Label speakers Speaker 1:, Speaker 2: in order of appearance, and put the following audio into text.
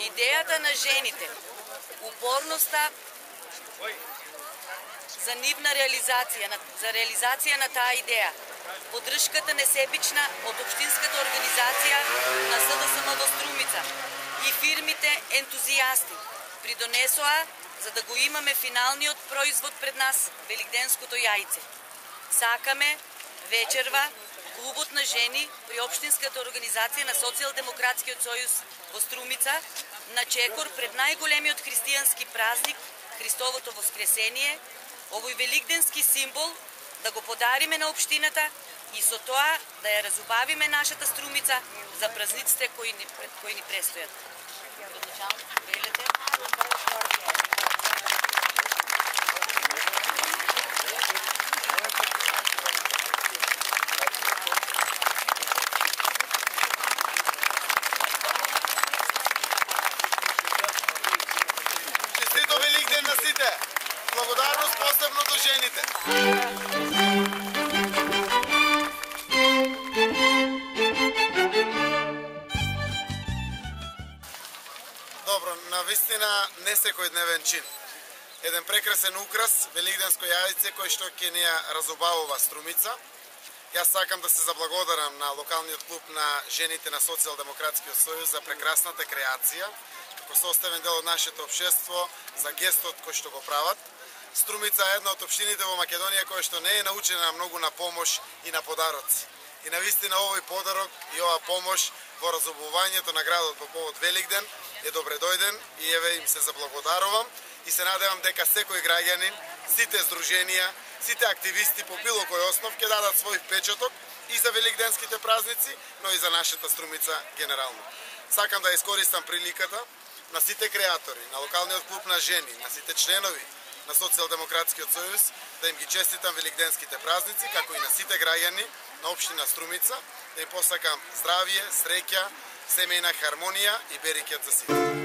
Speaker 1: Идејата на жените, упорноста за нивна реализација, за реализација на таа идеја, поддршката несебична од општинската организација на СДСМ во Струмица и фирмите ентузијасти придонесоа за да го имаме финалниот производ пред нас, великденското јајце. Сакаме вечерва клубот на жени при општинската организација на Социјалдемократскиот сојуз во Струмица на чекор пред најголемиот христијански празник, Христовото воскресение, овој великденски символ да го подариме на општината и со тоа да ја разубавиме нашата Струмица за празниците кои ни престојат.
Speaker 2: Честито Великден на сите! Благодарност посебно до жените! Добро, навистина не секој дневен чин. Еден прекрасен украс, великденско јајце кој што ќе ни ја разубавува Струмица. Јас сакам да се заблагодарам на локалниот клуб на жените на Социјалдемократскиот сојуз за прекрасната креација, како составен дел од нашето општество, за гестот кој што го прават. Струмица е една од општините во Македонија која што не е научена многу на помош и на подароци. И навистина овој подарок и оваа помош во разубувањето на градот по повод Великден е добре дојден и еве им се заблагодарувам и се надевам дека секој граѓанин, сите здруженија, сите активисти по било кој основ ќе дадат свој впечаток и за великденските празници, но и за нашата Струмица генерално. Сакам да искористам приликата на сите креатори, на локалниот клуб на жени, на сите членови на Социјалдемократскиот сојуз, да им ги честитам великденските празници, како и на сите граѓани на општина Струмица, да им посакам здравје, среќа, семејна хармонија и берекет за сите.